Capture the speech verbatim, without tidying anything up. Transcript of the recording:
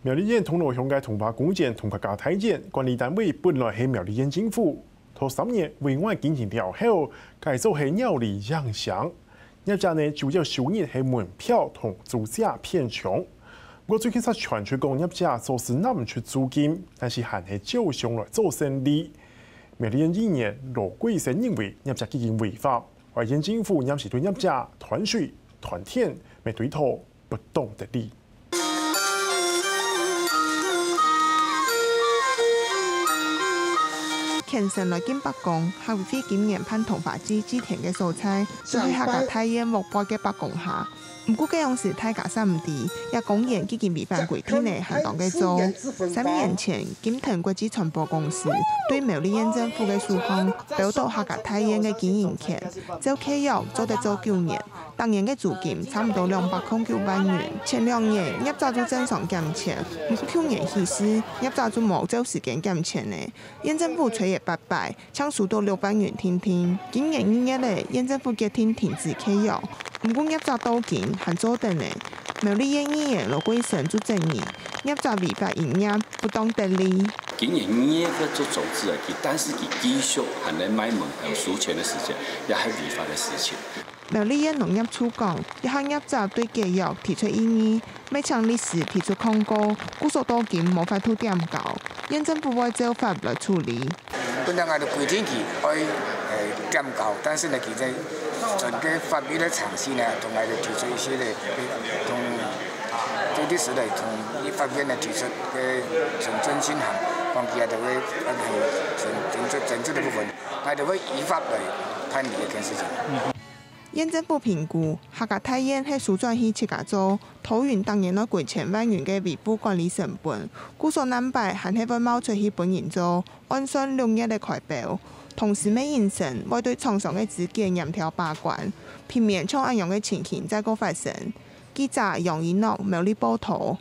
苗栗縣銅鑼鄉个桐花公園同客家大院管理單位本來係苗栗縣政府，頭三年委外經營了後，改做係鳥類影城。業者呢主要收入係門票同租借片場。毋過最近煞傳出講業者所使拿毋出租金，但是還係照常來做生理。苗栗縣議員羅貴生認為業者既經違法，愛縣政府臨時對業者斷水、斷電，乜追討不當得利。 虔誠來敬伯公，客委會今年辦桐花祭祭天个所在，就係客家大院屋背个伯公下。毋過該央時大家煞毋知，這公園既經違反規定呢還當个做。三年前，金騰國際傳播公司對苗栗縣政府个手項，標到客家大院个經營權，照契約做得做九年， 逐年个租金差毋多兩百空九萬元。前兩年，業者就正常減錢，毋過舊年起勢，業者就無照時間減錢呢。縣政府催了八擺，淨收到六萬元定定。今年二月了，縣政府決定停止契約。毋過業者到今還做等呢。苗栗縣議員羅貴生就質疑，業者違法營業，不當得利。今年二月做終止了，佢但是佢繼續還在賣門票收錢的時間，也係違法的事情。 苗栗縣農業處講，這下業者對解約提出異議，乜請律師提出抗告，故所到今無法度點交，縣政府會照法來處理。本來𠊎兜規定佢愛，呃，點交，但是呢，佢在整個法律的程序呢，同𠊎兜提出一些的，同，對律師來同立法院呢提出个行政進行，講佢兜个，呃，整，整個，整個的部分，𠊎兜會依法來辦理這件事情。 縣政府評估，客家大院係收轉去自家做，拖延逐年愛幾千萬元个維護管理成本，故所難擺還係會貿出去分人做，按算六月个開標。同時乜應聲會對廠商个資格嚴條把關，避免像恁樣个情形再過發生。記者楊一諾苗栗報導。